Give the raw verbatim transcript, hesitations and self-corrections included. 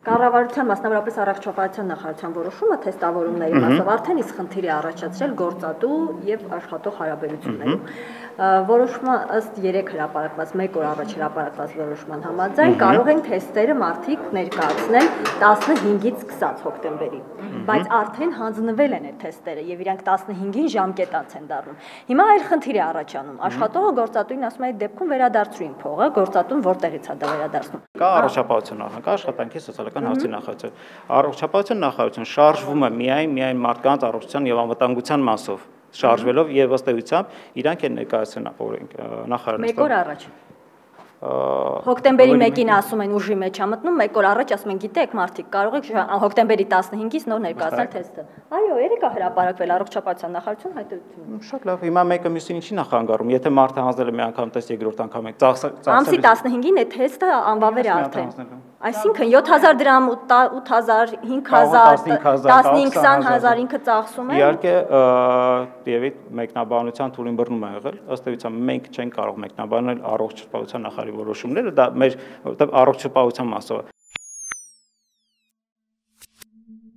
Կառավարության, մասնավորապես առողջապահության նախարարության որոշումը թեստավորումների մասով արդեն իսկ խնդիր է առաջացրել գործատու եւ աշխատող հարաբերություններում։ Որոշումը ըստ երեք հրապարակված, մեկ օր առաջ հրապարակված որոշման համաձայն կարող են թեստերը մարդիկ ներկայացնել տասնհինգից սկսած հոկտեմբերի, բայց արդեն հանձնվել են այդ թեստերը եւ իրանք տասնհինգին ժամկետաց են դառնում։ Հիմա այլ խնդիր է առաջանում։ Աշխատողը գործատուին ասում է այդ դեպքում վերադարձրու իմ փողը, գործատուն որտեղից է դա վերադարձնում։ Կա առողջապահություն նախարարություն, կա աշխատանքի սոցիալական հարցերի նախարարություն։ Առողջապահություն նախարարություն շարժվում է միայն միայն մարդկանց առողջության եւ անվտանգության մասով, շարժվելով եւ ըստ էության իրանք են ներկայացրել նախարարությունը։ Մեկ օր առաջ Հոկտեմբերի մեկին ասում են ուժի մեջ է մտնում, մեկ օր առաջ ասում են գիտեք մարդիկ կարող եք հոկտեմբերի տասնհինգից նոր ներկայացնել թեստը։ Այո, երեք է հրապարակվել առողջապահության նախարարություն հայտարարությունը։ Շատ լավ, հիմա մեկը մյուսին ինչի նախանգարում, եթե մարդը հանձնել է մի անգամ տեստ, երկրորդ անգամ է ծախսել։ Ամսի տասնհինգին այդ թեստը անվավեր է արդեն։ Այսինքն յոթ հազար դրամ, ութ հազար, հինգ հազար, տասնհինգ քսան հազար ինքը ծախսում է։ Իհարկե, եւ մեկնաբանության թույլին բռնում է եղել, ըստ էության մենք չենք կարող մեկնաբանել առողջապահության նախարարի որոշումները, դա մեր որովհետեւ առողջապահության մասով է։